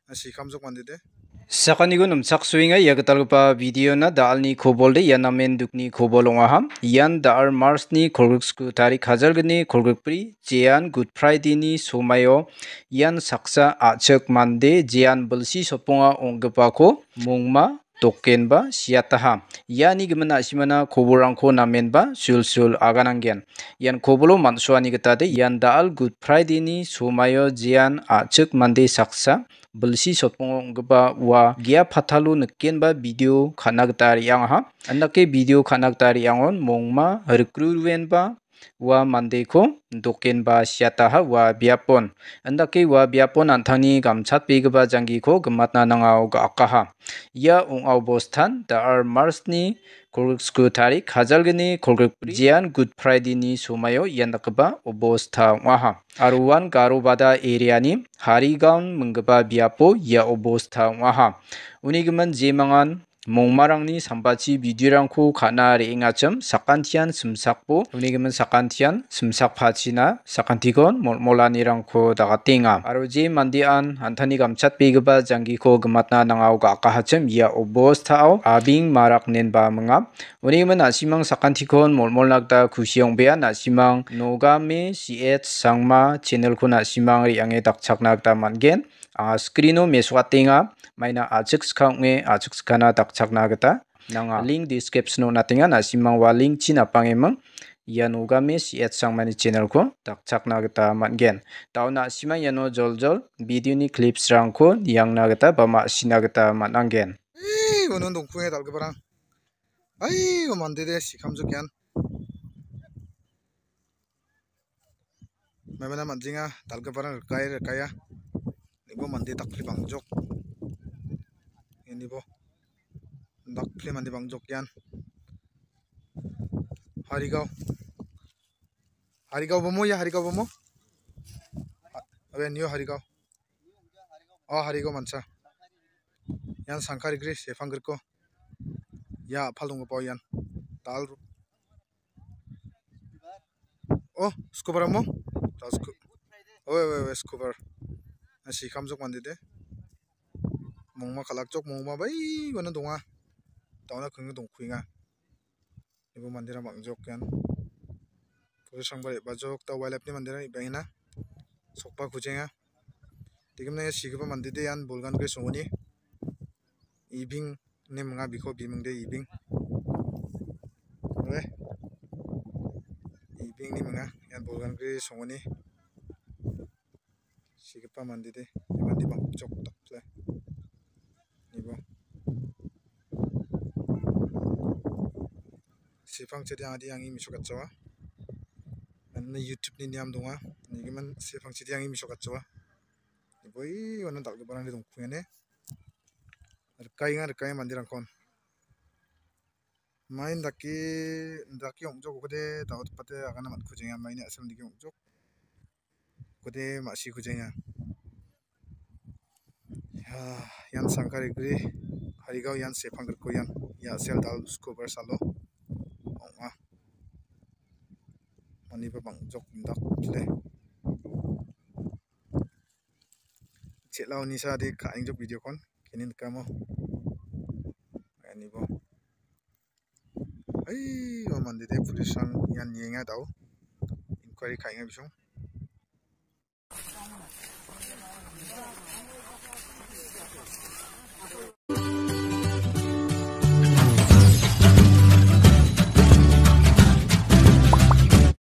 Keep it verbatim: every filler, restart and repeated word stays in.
Asi kamjok mande de. Sakanigo nimchaksoenga ia gitalgipa video-na da·alni kobol de, ia namen dukni kobol ong·aha. Ian da·al March-ni kolgriksku tarik hajalgni kolgrikbri, jean Good Friday-ni somaio ian saksa a·chik mande jean bilsi sotponga ong·gipako mongma dokenba siataha. Iani gimin na·simana kobolrangko namenba sulsul agananggen. Ian kobolo man·soani gita de, ian da·al Good Friday-ni somaio jean a·chik mande saksa bilsi sotpongo ong·gipa ua gia patalo nikenba video ka·na gita re·angaha. Andake video ka·na gita re·angon mongma rikruruenba ua mandeko dokenba siataha ua biapon. Andake ua biapon an·tangni gamchatbegipa janggiko gimatna nangao ga·akaha. Ia ong·a obostan da·al March-ni kolgriksku tarik hajalgni kolgrikbri jean Good Friday-ni somaio ian dakgipa obosta ong·aha. Aro uan Garobada area-ni Harigaon minggipa biapo ia obosta ong·aha. Uni gimin jemangan mongmarangni sambachi video-rangko ka·na re·engachim sakantian simsakbo, uni gimin sakantian simsakpachina sakantikon molmolanirangko dagatenga. Aro je mandean an·tangni gamchatbegipa janggiko gimatna nangao ga·akahachim ia obostao abing marak nenba minga. Uni gimin na·simang sakantikon molmolna gita kusi ong·bea, na·simang Nogame C H Sangma channel-ko na·simang re·ange dakchakna gita man·gen. Anga screen-o mesokatenga, maina a·chik skang ong·e a·chik skana dakchakna gita nanga. Link description-o on·atenga, na·simang ua link-chi napangeming ia Nogame C H Sangmani channel-ko dakchakna gita man·gen. Da·o na·simang iano joljol video-ni clips-rangko niangna gita ba ma·sina gita man·angen. Ei, unon dongkunge dal·giparang. Ai, o mande de sikamjok ian. Maimana man·jenga, dal·giparang rikai, rikaia. Ibo mande dakpli bangjok. Ianibo dakpli mande bangjok ian. Harigao. Harigao bomo, ia Harigao bomo? Ha-, abe nio Harigao. Oh, Harigao mancha. Ian sangkarigri, sepangriko. Ia a·pal donggipao ian. Dal ru-, oh, scuba ramo? Dal scu-, oh, we, we, we, scuba. Asi kamjok mande de. Mongma kalakjok, mongma bai uano donga. Dauna kengge dongkuenga. Ibo manderang bang·jok ian. Police-rangba re·bajok, da wildlife-ni manderang re·baenga. Sokba kujenga. Degimna ia sigipa mande de ian bolgan gre songoni. Ibing ine minga biko biming de Ibing. Oe. Ibing ine minga ian bolgan gre songoni. Sigipa mande de, ia mande bang·jok dakple. Nibo. Sepangchide adi angi mesokatjawa. Anna YouTube-ni niam donga. Nigimin sepangchide angi mesokatjawa. Nibo i wana dal·giparangde dongkungene. Rikaenga, rikaenga manderangkon. Main dake, dake ong·jok okode, daotpate agana man·kujenga, maini a·sel dake ong·jok. Kode ma·siko jenga. Ya, ian sangkarigri, Harigao ian sepangriko ian, ia sel dal scuba salo ong·a. Maniba bang·jok indakple. Chel·a onisa de ka·engjok video-kon, keni nikamo. Anibo. Ai, ua mande de police-rang ian nienga dao. Inquiry ka·enga bisong.